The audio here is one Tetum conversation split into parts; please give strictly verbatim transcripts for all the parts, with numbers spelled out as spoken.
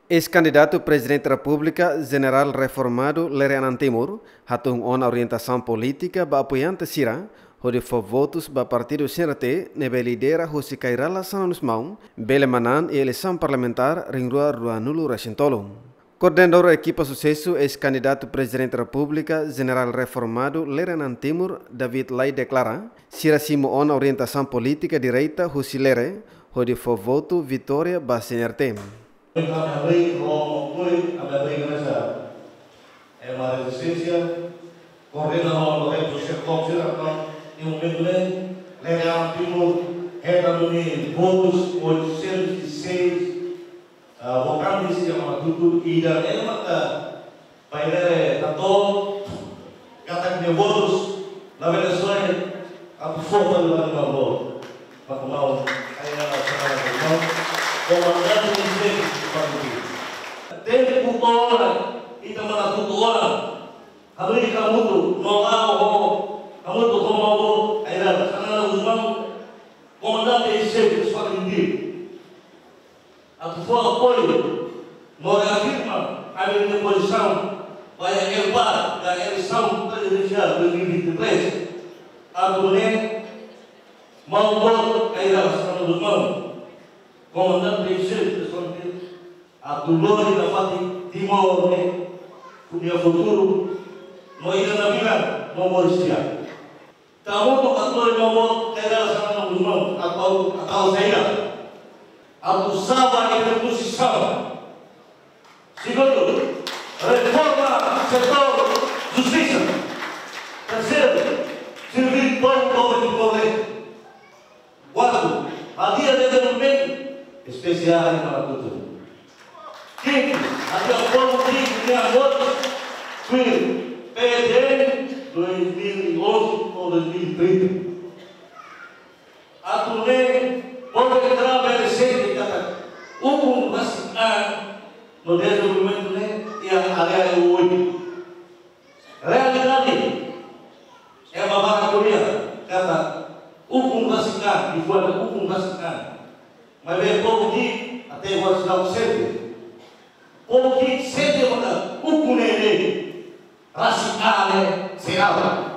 Eis-kandidatu Prezidente Repúblika, Jenerál Reformadu Lere Anan Timur, hatún ona orientasaun polítika ba apoiante sira, hodi fó votus ba partidu C N R T ne'ebé lidera husi Kay Rala Xanana Gusmão, bele manán iha eleisaun parlamentár rihun rua ruanulu resin tolu. Koordenadór ekipa susesu eis-kandidatu Prezidente Repúblika, Jenerál Reformadu Lere Anan Timur, David Lai deklara, sira simu ona orientasaun polítika direta husi Lere, hodi fó votu vitória ba C N R T. Ami rei ho mokoi, ami rei nasa. Ema rezisténsia, koordena ho Lorenzo Chefkop sira, no, iha momentu ne'e, Lere Anan Timur, hetan duni votus oitocentos e seis, ah, votantes iha Manatutu, ida-ne'e maka Pai Lere hato'o, katak nia votus, labele soe, atu fó fali ba nia maun. Ba maun, Kay Rala Xanana Gusmão, komandante em xefe do partido. Tempu to'o ona, ita Manatutu ona, hanoin hamutuk, no la'o ho, hamutuk ho maun, Kay Rala Xanana Gusmão, komandante em xefe do partido. Atu fó apoiu, no reafirma ami-nia pozisaun ba iha L PAR, ka eleisaun prezidensiál dois mil e vinte e três. Atu nune'e, maun boot Kay Rala Xanana Gusmão, komandante em xefe do partido, atu lori nafatin Timor ne'e, nia futuru, no ida-ne'ebé, no moris di'ak. Ita hamutuk atu lori maun boot Kay Rala Xanana Gusmão, atu, atu saida? Atu salva ita-nia konstituisaun. Segundu, reforma setór justisa. Terseiru, serví povu, povu Timor-Leste. Kuartu, hadi'a dezenvolvimentu espesiál iha Manatutu. Kintu, hadi'a povu ki'ik nia moris tuir P D N dois mil e onze ou dois mil e trinta. Atu nune'e, povu Timor bele sente katak ukun rasik an no dezenvolvimentu ne'e iha área oioin. Realidade, ema barak ko'alia katak ukun rasik an, liafuan ukun rasik an. Maibé povu ki'ik até agora seidauk sente. Povu ki'ik sente katak ukun ne'e rasik an ne'e seidauk.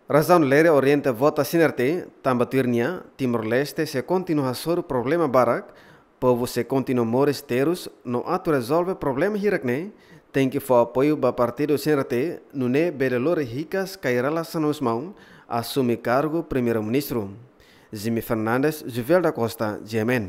Razaun Lere orienta vota C N R T, tanba tuir nia, Timor-Leste sei kontinua hasoru problema barak, povu sei kontinua moris terus, no atu rezolve problema hirak ne'e, tenke fó apoiu ba partidu C N R T, nune'e bele lori hikas Kay Rala Xanana Gusmão asume kargu Primeiru-Ministru. Jimmy Fernandes, Juvel da Costa, G M N.